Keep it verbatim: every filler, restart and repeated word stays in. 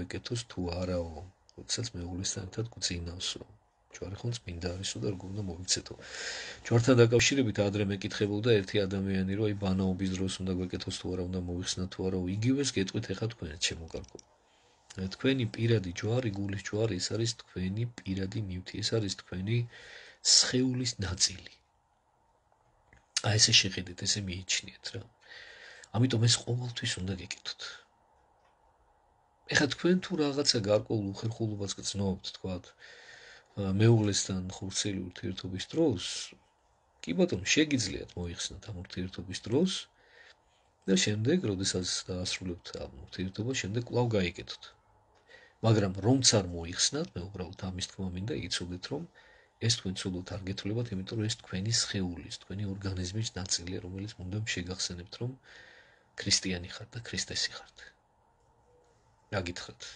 ეკეთოს თუ არაო, როდესაც მეუღლესთან ერთად გვწინავსო. ჯვარი ხომ წმინდა არისო და როგორ უნდა მოიქცეთო. ჯვართან დაკავშირებით ადრე მეკითხებოდა ერთი ადამიანი, რომ აი ბანაობის დროს უნდა გვეკეთოს თუ არა, უნდა მოიხსნათ თუ არა, იგივეს გეტყვით ეხა თქვენც შემოგარგო. თქვენი პირადი ჯვარი, გულის ჯვარი, ეს არის თქვენი პირადი ნივთი, ეს არის თქვენი სხეულის ნაწილი. აი ესე შეხედეთ, ესე მიიჩნიეთ რა. ამიტომ ეს ყოველთვის უნდა გეკეთოთ. ეხლა თქვენ თუ რაღაცა გარკვეულ უხერხულობას გრძნობთ, თქვათ, მეუღლესთან ხორცელი ურთიერთობის დროს, კი ბატონო, შეგიძლიათ მოიხსნათ ამ ურთიერთობის დროს და შემდეგ, როდესაც დაასრულებთ ამ ურთიერთობას, შემდეგ კვლავ გაიგეთოთ. მაგრამ რომც არ მოიხსნათ, მე უბრალოდ ამის თქმა მინდა იცოდეთ, რომ ეს თქვენ ცუდად არ გეთვლებათ, იმიტომ რომ ეს თქვენი სხეულის, თქვენი ორგანიზმის ნაწილია, რომელიც უნდა შეგახსენებთ, რომ ქრისტიანი ხართ და ქრისტესი ხართ. გაგითხრათ.